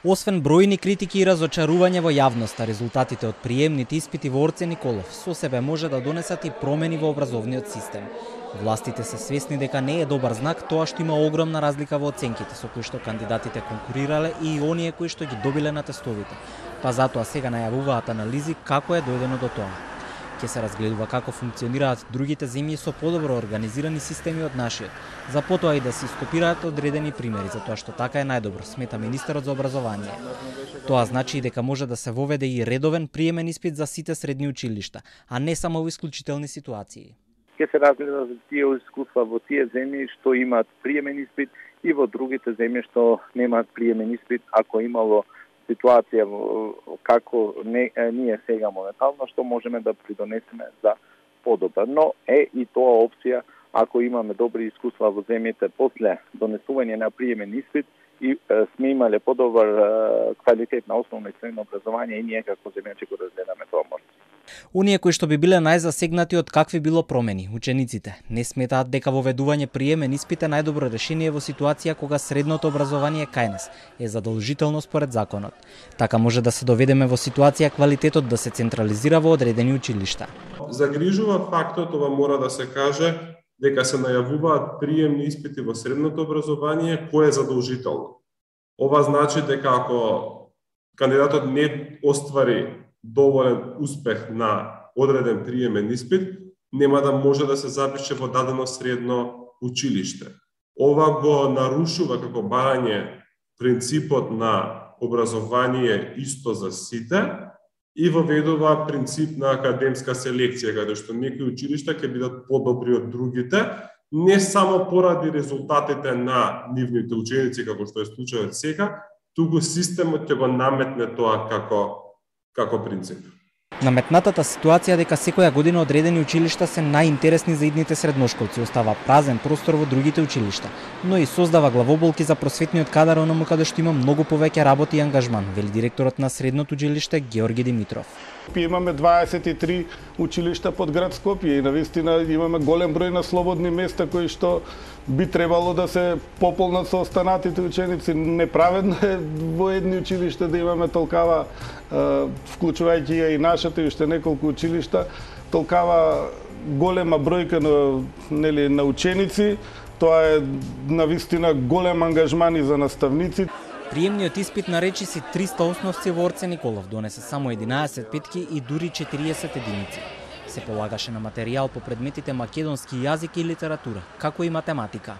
Освен бројни критики и разочарување во јавноста, резултатите од приемните испити во Орце Николов со себе може да донесат и промени во образовниот систем. Властите се свесни дека не е добар знак тоа што има огромна разлика во оценките со кои што кандидатите конкурирале и оние кои што ги добиле на тестовите. Па затоа сега најавуваат анализи како е дојдено до тоа. Ќе се разгледува како функционираат другите земји со подобро организирани системи од нашиот, за потоа и да се стопираат одредени примери за тоа што така е најдобро, смета министерот за образование. Тоа значи и дека може да се воведе и редовен приемен испит за сите средни училишта, а не само во исклучителни ситуации. Ќе се разгледа за тие искуства во тие земји што имаат приемен испит и во другите земји што немаат приемен испит, ако имало ситуација како ние сега моментално, што можеме да придонесеме за подобро. Но е и тоа опција, ако имаме добри искуства во земјите после донесување на приемен испит и сме имале подобар квалитет на основно и средно образование и ние како земја ќе го разгледаме тоа можност. Оние кои што би биле најзасегнати од какви било промени, учениците, не сметаат дека воведување приемен испит е најдобро решение во ситуација кога средното образование кај нас е задолжително според законот. Така може да се доведеме во ситуација квалитетот да се централизира во одредени училишта. Загрижува фактот, ова мора да се каже, дека се најавуваат приемни испити во средното образование кое е задолжително. Ова значи дека ако кандидатот не оствари доволен успех на одреден приемен испит, нема да може да се запише во дадено средно училиште. Ова го нарушува како барање принципот на образование исто за сите и воведува принцип на академска селекција, каде што некои училишта ќе бидат подобри од другите, не само поради резултатите на нивните ученици, како што е случајот сега, туку системот ќе го наметне тоа како принцип. Наметнатата ситуација дека секоја година одредени училишта се најинтересни за идните средношколци остава празен простор во другите училишта, но и создава главоболки за просветниот кадар онаму каде што има многу повеќе работа и ангажман, вели директорот на средното училиште Георги Димитров. Имаме 23 училишта под град Скопје и навистина имаме голем број на слободни места кои што би требало да се пополнат со останатите ученици. Неправедно е во едни училишта да имаме толкава, вклучувајќи ја и нашата и уште неколку училишта, толкава голема бројка на ученици. Тоа е навистина голем ангажман и за наставници. Приемниот испит на речиси 300 основци во Орце Николов донесе само 11 петки и дури 40 единици. Се полагаше на материјал по предметите македонски јазик и литература, како и математика.